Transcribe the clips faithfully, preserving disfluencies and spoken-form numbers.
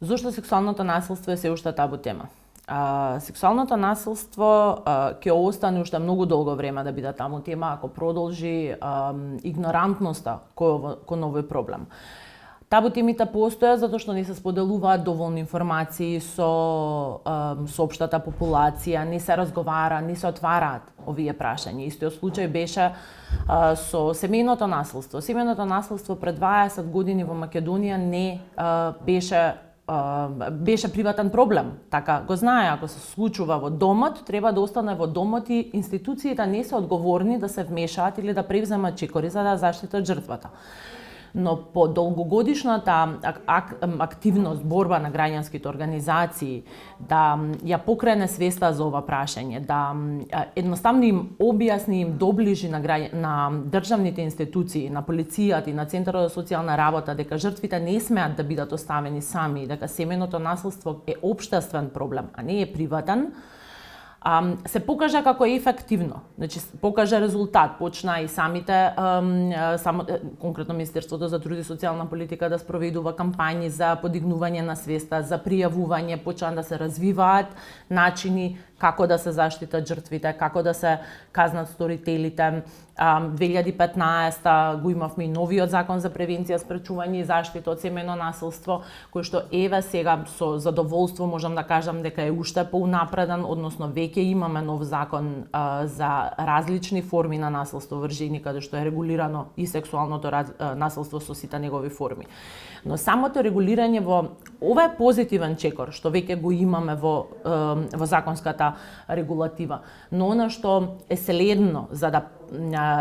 Зошто сексуалното насилство е се уште табу тема? А, сексуалното насилство а, ќе остане уште многу долго време да биде таму тема ако продолжи а, игнорантноста кој кон овој проблем. Табу темите постојат затоа што не се споделуваат доволно информации со а, со општата популација, не се разговара, не се отвараат овие прашања. Истиот случај беше а, со семејното насилство. Семејното насилство пред дваесет години во Македонија не а, беше беше приватен проблем. Така го знае, ако се случува во домот, треба да остане во домот и институциите не се одговорни да се вмешаат или да превземат чекори за да заштитат жртвата. Но по долгогодишната ак ак активност, борба на граѓанските организации, да ја покрене свеста за ова прашање, да едноставно им објасни, им доближи на, граѓ... на државните институции, на полицијата и на Центарот за социјална работа, дека жртвите не смеат да бидат оставени сами, дека семејното насилство е општествен проблем, а не е приватен, Um, се покажа како ефективно, значи покажа резултат, почна и самите um, само конкретно Министерството за труд и социјална политика да спроведува кампањи за подигнување на свеста, за пријавување, почна да се развиваат начини како да се заштитат жртвите, како да се казнат сторителите. две илјади и петнаесета го имавме и новиот закон за превенција, спречување и заштита од семејно насилство, кој што еве сега со задоволство можам да кажам дека е уште поунапреден, односно веќе имаме нов закон а, за различни форми на насилство врз жени, каде што е регулирано и сексуалното раз, а, насилство со сите негови форми. Но самото регулирање во ова е позитивен чекор што веќе го имаме во во законската регулатива. Но она што е следно за да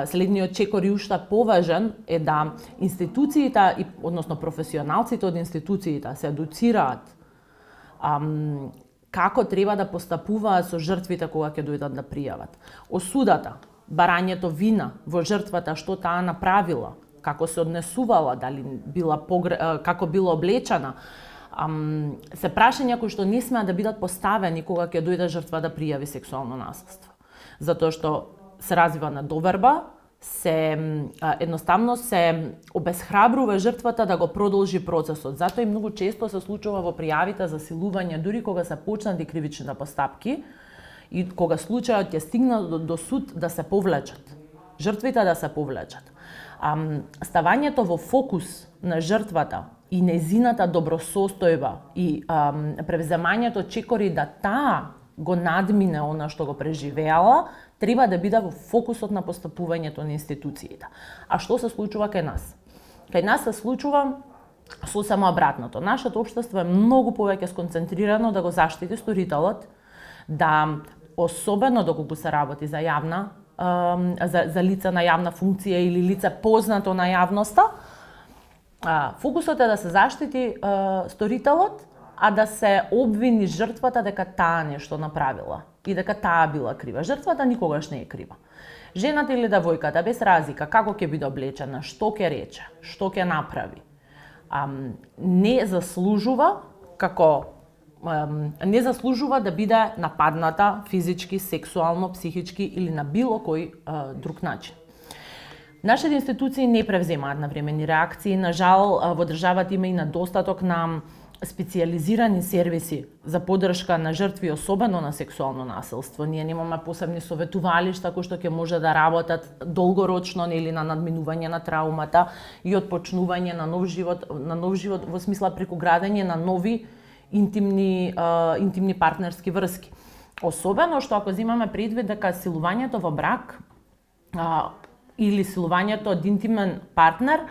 следниот чекор и уште поважен е да институциите и односно професионалците од институциите се едуцираат ам, како треба да постапуваат со жртвите кога ќе дојдат да пријават. Осудата, барањето вина во жртвата што таа направила, како се однесувала, дали била погре... како била облечена, ам, се прашања кои што не смеат да бидат поставени кога ќе дојде жртва да пријави сексуално насилство. Затоа што се развива недоверба, се едноставно се обесхрабрува жртвата да го продолжи процесот. Затоа и многу често се случува во пријавите за силување, дури кога се почнати кривичните постапки и кога случајот ќе стигне до, до суд да се повлечат. Жртвите да се повлечат. Ам, ставањето во фокус на жртвата и незината добросостојба и ам, превземањето чекори да таа го надмине она што го преживеала, треба да биде во фокусот на постапувањето на институциите. А што се случува кај нас? Кај нас се случува сосема обратното. Нашето општество е многу повеќе сконцентрирано да го заштити сторителот, да особено доколку се работи за јавна за, за лица на јавна функција или лице познато на јавноста, фокусот е да се заштити сторителот, а да се обвини жртвата дека таа нешто направила и дека таа била крива. Жртвата никогаш не е крива. Жената или девојката без разлика како ќе биде облечена, што ќе рече, што ќе направи, ам, не заслужува како ам, не заслужува да биде нападната физички, сексуално, психички или на било кој а, друг начин. Нашите институции не превземаат навремени реакции. На жал, во државата има и недостаток на специјализирани сервиси за поддршка на жртви, особено на сексуално насилство. Ние немаме посебни советувалишта кои што ќе може да работат долгорочно или на надминување на траумата и отпочнување на нов живот, на нов живот во смисла преку градење на нови интимни а, интимни партнерски врски. Особено што ако земаме предвид дека силувањето во брак а, или силувањето од интимен партнер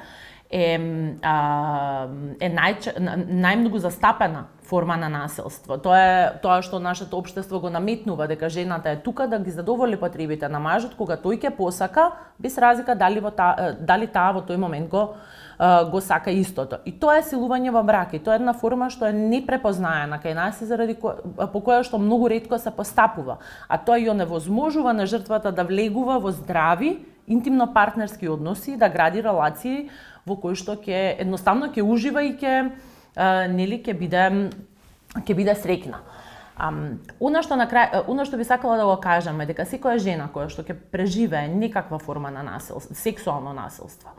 е, а, е нај, најмногу застапена форма на насилство. Тоа е тоа што нашето општество го наметнува, дека жената е тука да ги задоволи потребите на мажот кога тој ќе посака, без разлика дали во та, дали таа во тој момент го го сака истото. И тоа е силување во брак. И тоа е една форма што е непрепознаена кај нас и заради ко... по која што многу ретко се постапува. А тоа ја невозможува на жртвата да влегува во здрави интимно партнерски односи, да гради релации во кои што ќе едноставно ќе ужива и ќе нели ќе биде ќе биде среќна. Um, она што на крај, она што би сакала да го кажам е дека секоја жена која што ќе преживее некаква форма на насилство, сексуално насилство,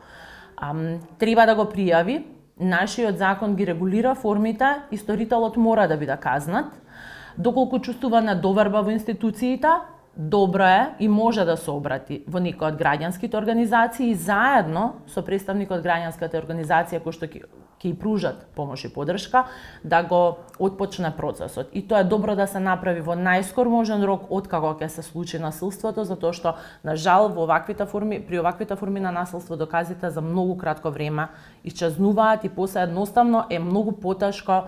um, треба да го пријави нашиот закон ги регулира формите и сторителот мора да биде казнат. Доколку чувствува недоверба во институциите, добро е и може да се обрати во некоја од граѓанските организации и заедно со представник од граѓанската организација кој што ќе ќе пружат помош и поддршка да го отпочне процесот. И тоа е добро да се направи во најскор можен рок откако ќе се случи насилството, затоа што на жал во оваквите форми, при оваквите форми на насилство доказите за многу кратко време исчезнуваат и после едноставно е многу потешко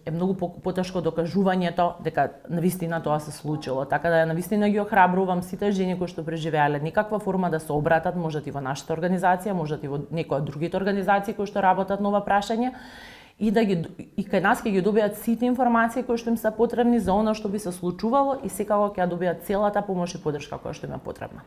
е многу потешко докажувањето дека навистина тоа се случило. Така да навистина ги охрабрувам сите жени кои што преживеале некаква форма да се обратат, можат и во нашата организација, можат и во некоја од другите организации кои што работат на ова прашање и да ги и кај нас ќе ги добијат сите информации кои што им се потребни за она што би се случувало и секако ќе ја добијат целата помош и поддршка која што им е потребна.